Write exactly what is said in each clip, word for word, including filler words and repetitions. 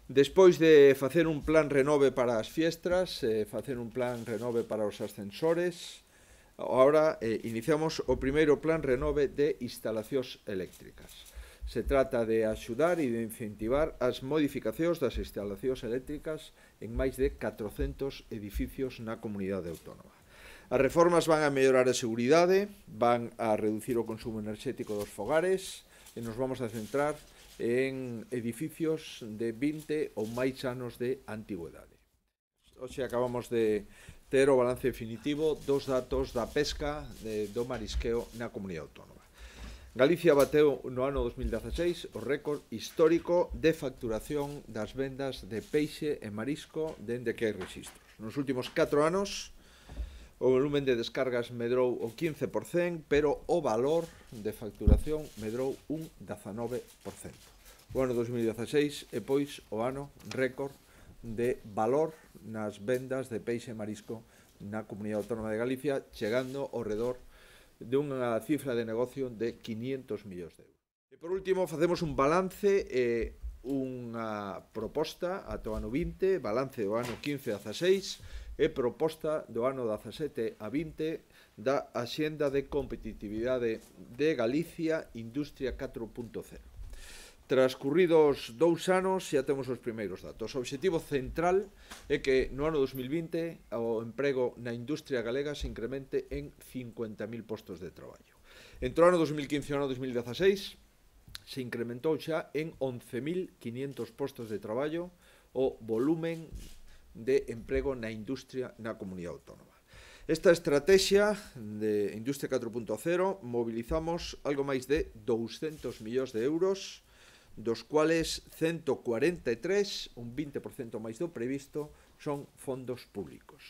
Despois de facer un plan renove para as fiestras, eh, facer un plan renove para os ascensores, agora eh, iniciamos o primeiro plan renove de instalacións eléctricas. Se trata de axudar e de incentivar as modificacións das instalacións eléctricas en máis de catrocentos edificios na comunidade autónoma. As reformas van a mellorar a seguridade, van a reducir o consumo enerxético dos fogares e nos vamos a centrar en edificios de vinte ou máis anos de antigüedade. Hoxe acabamos de ter o balance definitivo dos datos da pesca de, do marisqueo na comunidade autónoma. Galicia bateu no ano dos mil dieciséis o récord histórico de facturación das vendas de peixe e marisco dende que hai registros. Nos últimos catro anos o volumen de descargas medrou o quince por cento, pero o valor de facturación medrou un dezanove por cento. O ano dos mil dieciséis é, pois, o ano récord de valor nas vendas de peixe e marisco na Comunidade Autónoma de Galicia, chegando ao redor dunha cifra de negocio de quinientos millóns de euros. E, por último, facemos un balance e unha proposta ata o ano vinte, balance do ano quince a dezasseis, e proposta do ano dezasete a vinte da Axenda de Competitividade de Galicia Industria catro punto cero. Transcurridos dous anos xa temos os primeiros datos. O obxectivo central é que no ano dos mil vinte o emprego na industria galega se incremente en cincuenta mil postos de traballo. Entre o ano dos mil quince e o ano dos mil dieciséis se incrementou xa en once mil quinientos postos de traballo o volumen de emprego na industria na comunidade autónoma. Esta estrategia de Industria catro punto cero mobilizamos algo máis de douscentos millóns de euros, dos cuales ciento cuarenta e tres, un vinte por cento máis do previsto, son fondos públicos.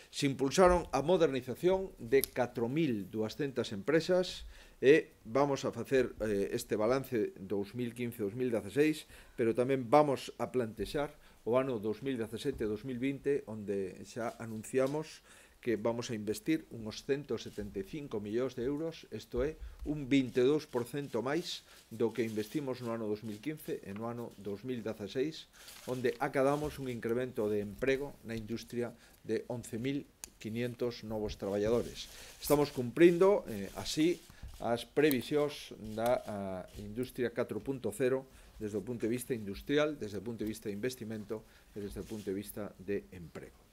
Se impulsaron a modernización de catro mil duascentas empresas e vamos a facer eh, este balance dos mil quince a dos mil dieciséis, pero tamén vamos a plantexar o ano dos mil diecisete a dos mil vinte, onde xa anunciamos que vamos a investir uns ciento setenta e cinco millóns de euros, isto é, un vinte e dous por cento máis do que investimos no ano dos mil quince e no ano dos mil dieciséis, onde acadamos un incremento de emprego na industria de once mil quinientos novos traballadores. Estamos cumprindo eh, así as previsións da a, Industria catro punto cero desde o punto de vista industrial, desde o punto de vista de investimento e desde o punto de vista de emprego.